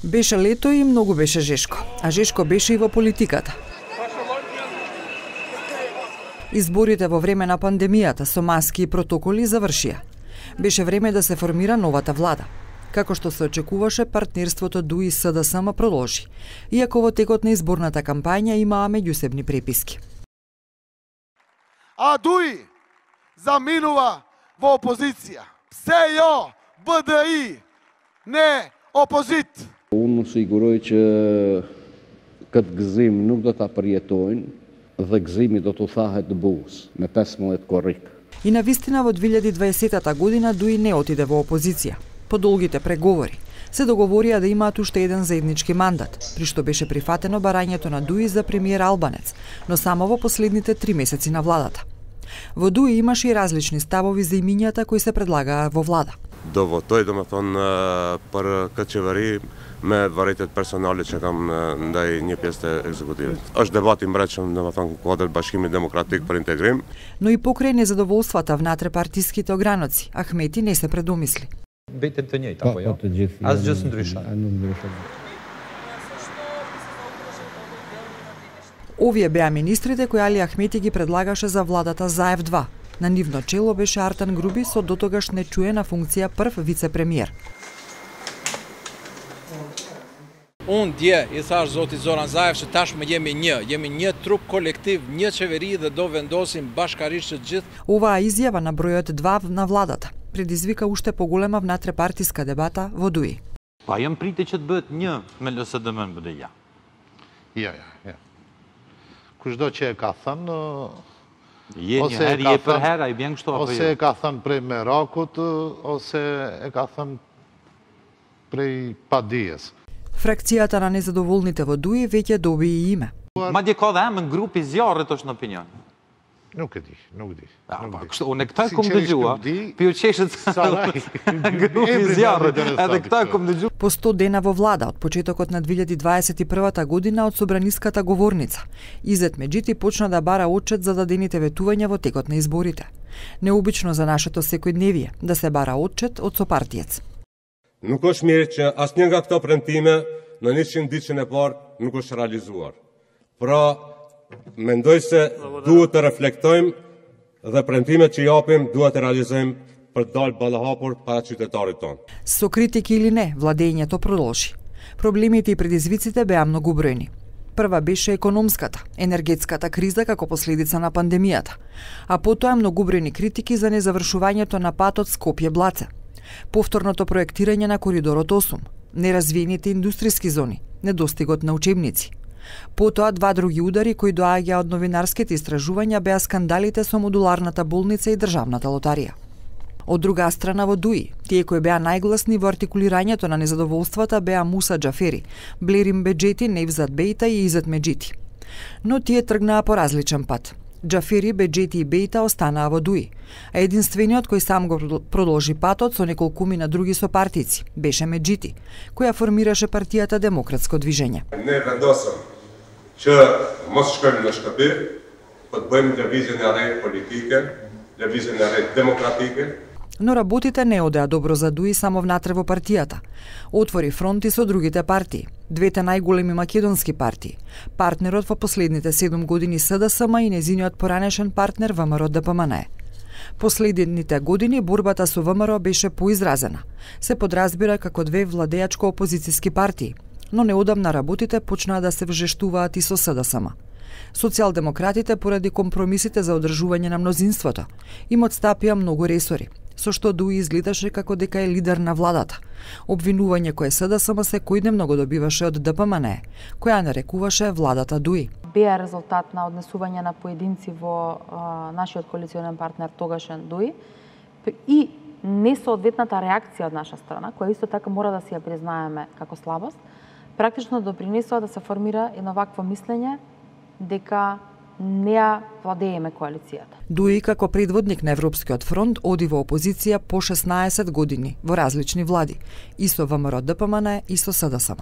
Беше лето и многу беше жешко, а жешко беше и во политиката. Изборите во време на пандемијата со маски и протоколи завршија. Беше време да се формира новата влада. Како што се очекуваше, партнерството ДУИ СДСМ продолжи, иако во текот на изборната кампања имаа меѓусебни преписки. А ДУИ заминува во опозиција. СЈО, БДИ, не опозит. Unë siguroj që këtë gëzim nuk do ta përjetojnë dhe gëzimi do të thahet buz me 15 korrik. И навистина во 2020 година ДУИ не отиде во опозиција. По долгите преговори се договорија да имаат уште еден заеднички мандат, при што беше прифатено барањето на ДУИ за премиер Албанец, но само во последните 3 месеци на владата. Во ДУИ имаше и различни ставови за имињата кои се предлагаа во влада. До тој për këtë qeveri me varritet personale që kam ndaj një pjesë të ekzekutivit. Është debati i mreçëm, kuadër Bashkimit Demokratik për Integrim. Но и покрај незадоволствата внатре партиските ограноци, Ахмети не се предумисли. Бетем të njëjtë apo jo? Asgjë s'ndryshon. Овие беа министрите кои Али Ахмети ги предлагаше за владата ЗАЕВ-2. На нивно чело беше Артан Груби со дотогаш нечуена функција прв вице-премиер. Unë dje I thash zoti Zoran Zaev që tashmë jemi një trup kolektiv, një qeveri dhe do vendosim bashkarisht të gjithë. Оваа изјава на бројот 2 на владата предизвика уште поголема внатре-партиска дебата во ДУИ. Pa jam priti që të bëhet një me LSDM BDI. Ja. Kushdo që e ka thënë Je një herë je për herë, I bjen kështu apo jo? Ose e ka thënë prej merakut, ose e ka thënë prej padijes. Фракцијата на незадоволните во ДУИ веќе доби и име. Madje ka dhe emën grupi zjarrit është në opinion. Nuk e di. Kështu, unë këta kom dëgjua, për ju qeshët grupi zjarrit, edhe këta kom dëgjua. По 100 дена во влада од почетокот на 2021 година од собраниската говорница, Изет Меджити почна да бара отчет за дадените ветувања во текот на изборите. Необично за нашето секојдневие да се бара отчет од сопартиец. Nuk është mirë që asnjë nga këto premtime në 100 ditën e parë nuk është realizuar. Pra, mendoj se duhet të reflektojmë dhe premtimet që japim duhet të realizojmë për të dalë ballahapur para qytetarit tonë. Со критики или не, владењето продолжи. Проблемите и предизвиците беа многобројни. Прва беше економската, енергетската криза како последица на пандемијата, а потоа многобројни критики за незавршувањето на патот Скопје-Блаце. Повторното проектирање на коридорот 8, неразвиените индустријски зони, недостигот на учебници. Потоа два други удари кои доаѓаа од новинарските истражувања беа скандалите со модуларната болница и државната лотарија. Од друга страна во ДУИ, тие кои беа најгласни во артикулирањето на незадоволствата беа Муса Џафери, Блерим Беџети, Невзат Бејта и Изет Меджити. Но тие тргнаа по различен пат. Џафери, Беџети и Бејта останаа во ДУИ, а единствениот кој сам го продолжи патот со неколкумина други сопартици беше Меджити, која формираше партијата Демократско движење. Не вендосам që mos shkojmë në shtëpi, po të bëjmë lëvizjen e re politike, lëvizjen e re demokratike. Но работите не одеа добро за ДУИ само внатре во партијата. Отвори фронти со другите партии, двете најголеми македонски партии, партнерот во последните 7 години СДСМ и незиниот поранешен партнер ВМРО ДПМНЕ. Последните години борбата со ВМРО беше поизразена. Се подразбира како две владеачко-опозициски партии, но неодамна работите почнаа да се вжештуваат и со СДСМ. Социјалдемократите поради компромисите за одржување на мнозинството им отстапија многу ресори, со што ДУИ изгледаше како дека е лидер на владата. Обвинување кое СДСМ секојдневно го добиваше од ДПМНЕ, која нарекуваше владата ДУИ. Беа резултат на однесување на поединци во нашиот коалиционен партнер тогашен ДУИ и несоодветната реакција од наша страна, која исто така мора да си ја признаеме како слабост, практично допринесува да се формира едно вакво мислење дека не ја владееме коалицијата. ДУИ како предводник на Европскиот фронт оди во опозиција по 16 години во различни влади, и со ВМРО ДПМНЕ и со СДСМ.